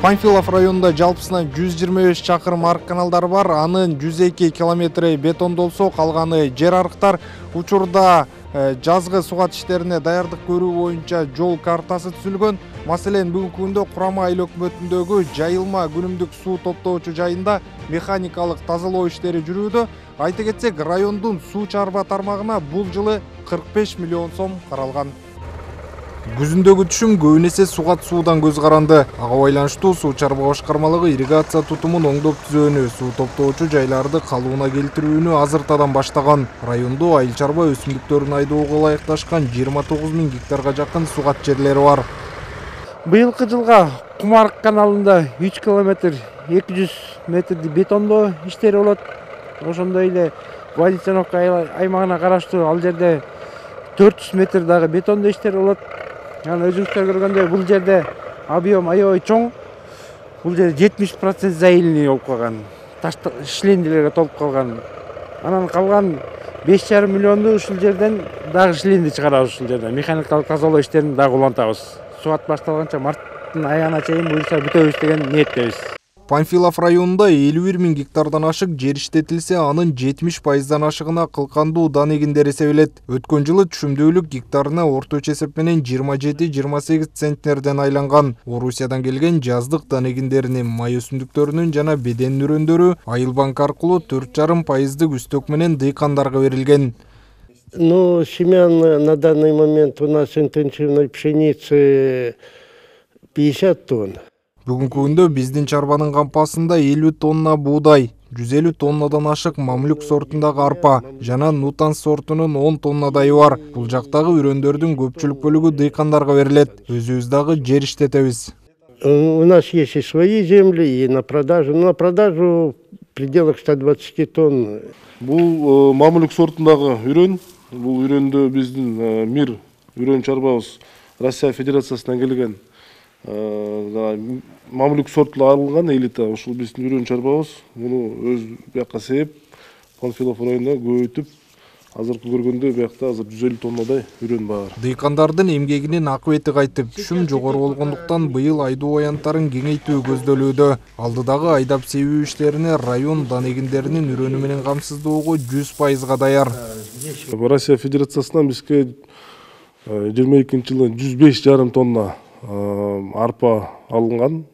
Панфилов районунда жалпысынан 125 чакырым арык каналдар бар. Анын 102 километри бетондолсо, калганы жер арыктар. Учурда жазгы сугат иштерине даярдык көрүү боюнча жол картасы түзүлгөн. Маселен, бүгүнкү күндө Курама айыл өкмөтүндөгү жайылма күнүмдүк суу топтоочу жайында механикалык тазалоо иштери жүрүүдө. Айта кетсек, райондун суу чарба тармагына бул жылы 45 миллион сом каралган. Күзүндөгү түшүм көбүнесе сугат суудан көз каранды. Ага байланыштуу суу чарба башкармалыгы ирригация тутумун оңдоп түзүүнү, суу топтоочу жайларды калыбына келтирүүнү азыртадан баштаган. Райондо айыл чарба өсүмдүктөрүн айдоого ылайыкташкан 29 000 гектарга жакын сугат жерлери бар. Быйылкы жылга Кумарык каналында 3 километр 200 метрди бетондоо иштери болот. Ошондой эле Валицановка аймагына караштуу ал жерде 400 метр дагы бетондоо иштери болот. Жана өзүңүздөр көргөндөй бул жерде объем аябай чоң. Бул жерде 70% заилный болуп калган. Таш шлендилерге толуп калган. Анан калган 5,5 миллионду ушул жерден дагы шленди чыгарабыз, ушул жерде механикалык тазалоо иштерин дагы улантабыз. Суат башталганча марттын аягына чейин буюрса бүтөбүз деген ниеттебиз. Панфилов районунда 51 000 гектардан ашык жер иштетилсе, анын 70%дан ашыгына кылкандуу дан эгиндери себилет. Өткөн жылы түшүмдүүлүк гектарына орточо эсеп менен 27-28 центнерден айланган. Орусиядан келген жаздык дан эгиндеринин, май өсүмдүктөрүнүн жана беден нурөндөрү Айыл банк аркылуу 4,5% үстөк менен дыйкандарга берилген. Ну, семян на данный момент у нас интенсивной пшеницы 50 тонн. Бүгүнкү күндө биздин чарбанын кампасында 50 тонна буудай, 150 тоннадан ашык мамлюк сортундагы арпа жана нутан сортунун 10 тоннадай бар. Бул жактагы үрөндөрдүн көпчүлүк бөлүгү дыйкандарга берилет. Өзүбүз дагы жер иштетебиз. У нас есть и свои земли, и на продажу. На продажу в пределах 120 тонн. Бул мамлюк сортундагы үрөн. Бул үрөндө биздин мир үрөн чарбабыз Россия Федерациясынан келген. Мамлюк сорту алынган элита, ушул биздин үрөн чарбабыз. Муну өз бияка себеп Панфилов районунда көбөйтүп, азыркы көргөндө биякта азыр 150 тоннадай үрөн бар. Дыйкандардын эмгегинин акыбети кайтып, түшүм жогору болгондуктан быйыл айдоо аянттарын кеңейтүү көздөлүүдө. Алдыдагы айдап себүү иштерине район дан эгиндеринин үрөнү менен камсыздоого 100% даяр. Россия Федерациясынан бизге 22-жылы 105,5 тонна арпа алынган.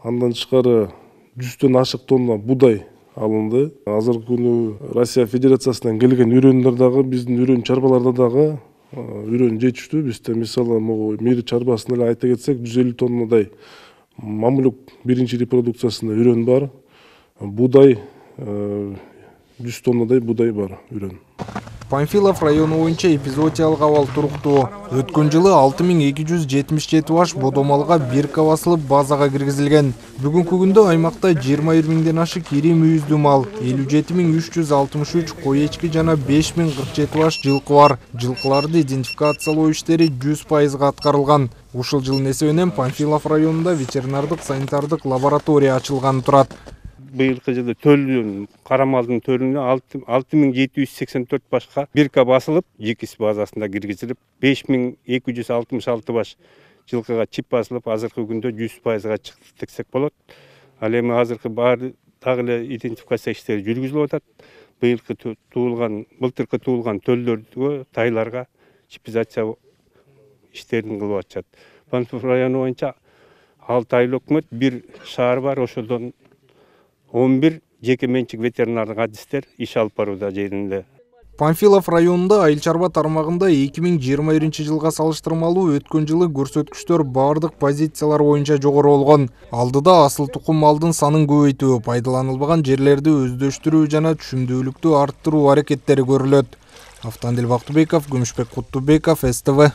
Андан тышкары 100төн ашык тонна будай алынды. Азыркы күнү Россия Федерациясынан келген үрөндөр дагы биздин үрөн чарбаларда дагы үрөн жетиштүү. Бизде мисалы мир чарбасында эле айта кетсек 150 тоннадай мамлюк биринчи репродукциясында үрөн бар. Будай 100 тоннадай будай бар үрөн. Панфилов району боюнча эпизоотиялык абал туруктуу. Өткөн жылы 6277 баш бодомалга бирка басылып базага киргизилген. Бүгүнкү күндө аймакта 21 000ден ашык ири мүйүздүү мал, 57 363 кой эчки жана 5047 баш жылкы бар. Жылкыларды идентификациялоо иштери 100% аткарылган. Ушул жылдын эсебинен Панфилов районунда ветеринардык санитардык лаборатория ачылганы турат. Быйылкы жылы төлдүн карамалдын төлүнө 6784 башка бирка басылып, ЖИКИС базасында киргизилип, 5266 баш жылкыга чип басылып, азыркы күндө 100%га чыкты десек болот. Ал эми азыркы баары дагы эле идентификация иштери жүргүзүлүп атат. Былтыркы туулган төлдөргө, тайларга чипизация иштерин кылып атышат. Панфилов району боюнча 6 айыл өкмөт, 1 шаар бар, ошодон 11 жеке менчик ветеринардык адистер иш алып барууда жеринде. Панфилов районунда айыл чарба тармагында 2021 жылга салыштырмалуу өткөн жылы көрсөткүчтөр бардык позициялар боюнча жогору болгон. Алдыда асыл тукум малдын санын көбөйтүү, пайдаланылбаган жерлерди өздөштүрүү жана түшүмдүүлүктү арттыруу аракеттери көрүлөт. Автандил Бактыбеков, Күмүшбек Куттубеков, СТВ.